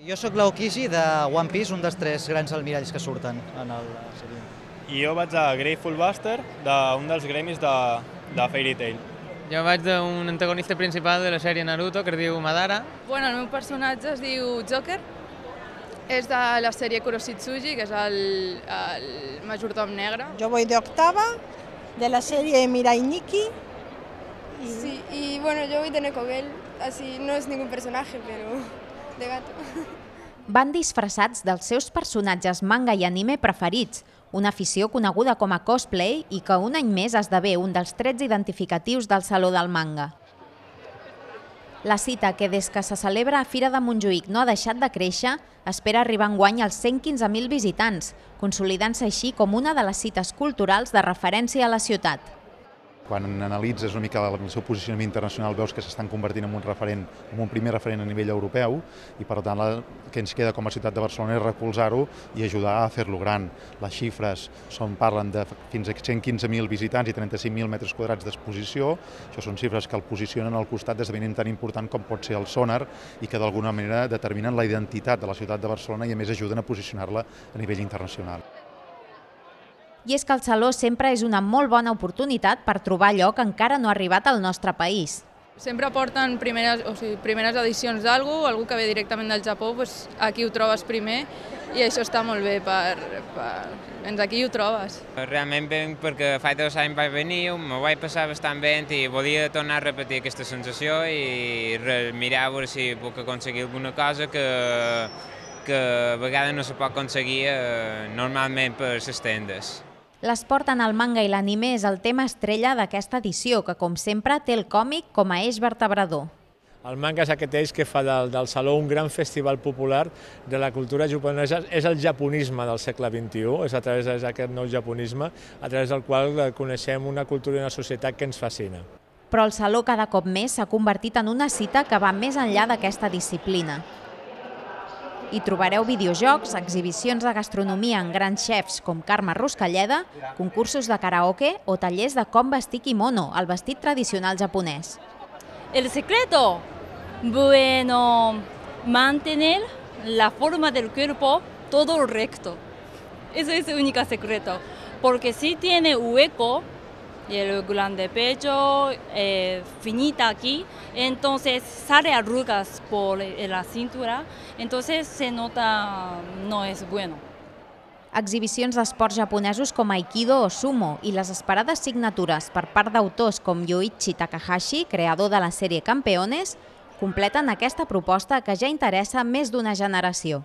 Jo sóc l'Aokishi de One Piece, un dels 3 grans almiralls que surten en la sèrie. I jo vaig a Grateful Buster, d'un dels gremis de Fairy Tail. Jo vaig d'un antagonista principal de la sèrie Naruto, que es diu Madara. Bueno, el meu personatge es diu Joker, és de la sèrie Kuroshitsuji, que és el majordom negre. Yo voy de octava, de la serie Mirai Nikki. Sí, y bueno, yo voy de Nekogel, así no es ningún personaje, pero de gato. Van disfressats dels seus personatges manga i anime preferits, una afició coneguda com a cosplay i que un any més esdevé un dels trets identificatius del Saló del Manga. La cita, que des que se celebra a Fira de Montjuïc no ha deixat de créixer, espera arribar enguany als 115.000 visitants, consolidant-se així com una de les cites culturals de referència a la ciutat. Quan analitzes una mica el seu posicionament internacional veus que s'estan convertint en un primer referent a nivell europeu i per tant el que ens queda com a ciutat de Barcelona és recolzar-ho i ajudar a fer-lo gran. Les xifres parlen de fins a 115.000 visitants i 35.000 metres quadrats d'exposició. Això són xifres que el posicionen al costat d'esdeveniment tan important com pot ser el Sonar i que d'alguna manera determinen la identitat de la ciutat de Barcelona i a més ajuden a posicionar-la a nivell internacional. I és que el Saló sempre és una molt bona oportunitat per trobar allò que encara no ha arribat al nostre país. Sempre porten primeres edicions d'algú, algú que ve directament del Japó, doncs aquí ho trobes primer i això està molt bé, aquí ho trobes. Realment venc perquè fa 2 anys vaig venir, m'ho vaig passar bastant bé i volia tornar a repetir aquesta sensació i mirar a veure si puc aconseguir alguna cosa que a vegades no se pot aconseguir normalment per les tendes. L'esport en el manga i l'anime és el tema estrella d'aquesta edició, que com sempre té el còmic com a eix vertebrador. El manga és aquest eix que fa del Saló un gran festival popular de la cultura japonesa. És el japonisme del segle XXI, és a través d'aquest nou japonisme, a través del qual coneixem una cultura i una societat que ens fascina. Però el Saló cada cop més s'ha convertit en una cita que va més enllà d'aquesta disciplina. Hi trobareu videojocs, exhibicions de gastronomia amb grans xefs com Carme Ruscalleda, concursos de karaoke o tallers de com vestir kimono, el vestit tradicional japonès. El secreto, bueno, mantener la forma del cuerpo todo recto. Eso es el único secreto, porque si tiene hueco, y el grande pecho, finita aquí, entonces sale arrugas por la cintura, entonces se nota no es bueno. Exhibicions d'esports japonesos com Aikido o Sumo i les esperades signatures per part d'autors com Yoichi Takahashi, creador de la sèrie Campeones, completen aquesta proposta que ja interessa més d'una generació.